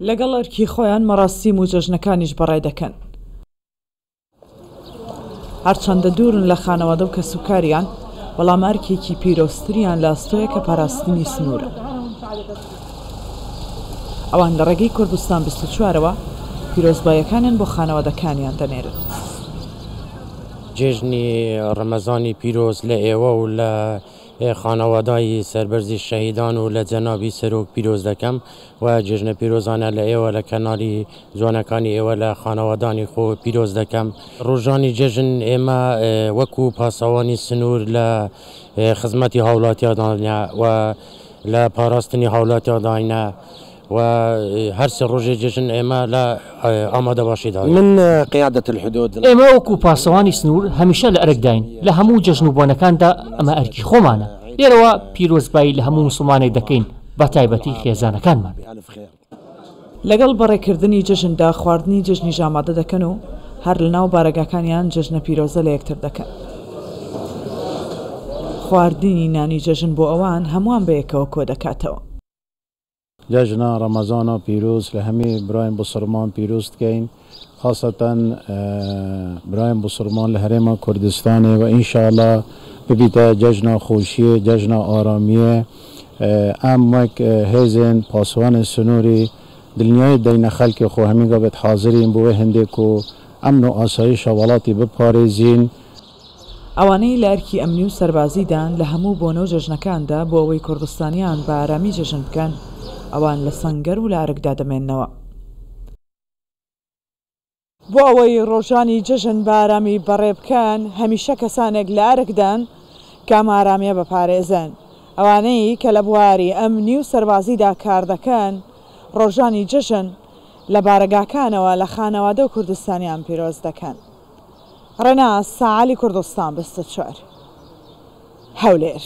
لەگەڵ ئەرکی خۆیان مەراسیم و جەژنەکانیش بەڕێ دەکەن. هەرچەندە دوورن لە خانەوادە و کەسوکاریان، بەڵام ئەرکێکی پیرۆزتریان لە ئەستۆیە کە پاراستنی سنوورە. ئەوان لە ڕێگەی کوردستان 24 ەوە پیرۆزباییەکانیان بۆ خانەوادەکانیان دەنێرن. جێژنی ڕەمەزانی پیرۆز لە ئێوە و لە خانەوادای سەربەرزی شەهیدان و لە جەنابی سەرۆک پیرۆز دەکەم و جێژنە پیرۆزانە لە ئێوە لە کەنالی جوانەکانی ئێوە لە خانەوادانی خۆ پیرۆز دەکەم. ڕۆژانی جەژن ئێمە وەکو پاسەوانی سنوور لە خزمەتی هاوڵاتیاندانە و لە پاراستنی هاوڵاتیانداینە و هەر سێ ڕۆژی جەژن ئێمە لە ئامادەباشیداین. من قیادە الحدود. ئێمە وەکو پاسەوانی سنوور هەمیشە لە ئەرکداین، لە هەموو جەژن و بۆنەکاندا ئەمە ئەرکی خۆمانە. لێرەوە پیرۆزبایی لە هەموو موسڵمانێک دەکەین، بەتایبەتی خێزانەکانمان. لەگەڵ بەڕێکردنی جەژندا خواردنی جەژنیش ئامادە دەکەن و هەر لەناو بارەگاکانیان جەژنە پیرۆزە لە یەکتر دەکەن. خواردنی نانی جەژن بۆ ئەوان هەمووان بەیەکەوە کۆدەکاتەوە. جەژنە ڕەمەزانە پیرۆز لە هەمی برایم بوسڕمان پیرۆز دکەین خاسەتەن برایم بوسڕمان لە هەرێما کوردستانێ و ئینشاڵا ببیتە جەژنە خۆشیێ جەژنە ئارامیێ ئەم وەک هێزێن پاسوانێ سنووری دڵنیایی دەینە خەلکی خۆ هەمی گاڤێت حازرین بۆ وێ هندێ کو ئەمن و ئاسایشە وەڵاتی بپارێزین. ئەوانەی لە ئەرکی ئەمنی و سەربازیدان لە هەموو بۆنە و جەژنەکاندا بۆ ئەوەی کوردستانیان بە ئارامی جەژن بکەن، ئەوان لە سەنگەر و لە ئەرکدا دەمێننەوە. بۆ ئەوەی ڕۆژانی جەژن بە ئارامی بەڕێ بکەن، هەمیشە کەسانێک لە ئەرکدان کە ئەم ئارامییە بپارێزن. ئەوانەی کە لە بواری ئەمنی و سەربازیدا کار دەکەن، ڕۆژانی جەژن لە بارەگاکانەوە لە خانەوادە و کوردستانیان پیرۆز دەکەن. ڕێناس ساعلی کوردستان 24 هەولێر.